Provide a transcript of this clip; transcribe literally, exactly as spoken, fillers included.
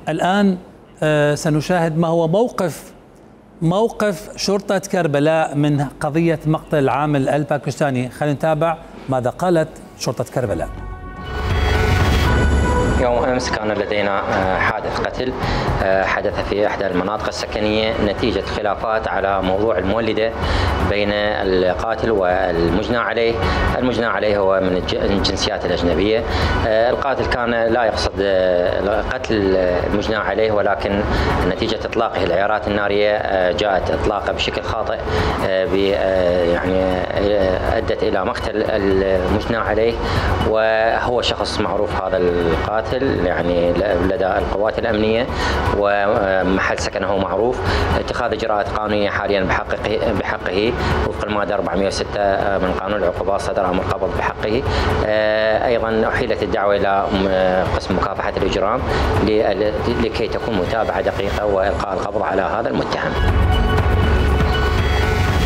الآن سنشاهد ما هو موقف موقف شرطة كربلاء من قضية مقتل العامل الباكستاني. خلينا نتابع ماذا قالت شرطة كربلاء. يوم أمس كان لدينا حادث قتل حدث في إحدى المناطق السكنية نتيجة خلافات على موضوع المولدة بين القاتل والمجنى عليه. المجنى عليه هو من الجنسيات الأجنبية. القاتل كان لا يقصد قتل المجنى عليه، ولكن نتيجة إطلاقه العيارات النارية جاءت إطلاقه بشكل خاطئ يعني أدت إلى مقتل المجنى عليه، وهو شخص معروف هذا القاتل يعني لدى القوات الأمنية ومحل سكنه معروف. اتخاذ إجراءات قانونية حاليا بحقه بحقه وفق المادة أربعمئة وستة من قانون العقوبات صدر أمر قبض بحقه. أيضا أحيلت الدعوة إلى قسم مكافحة الإجرام لكي تكون متابعة دقيقة وإلقاء القبض على هذا المتهم.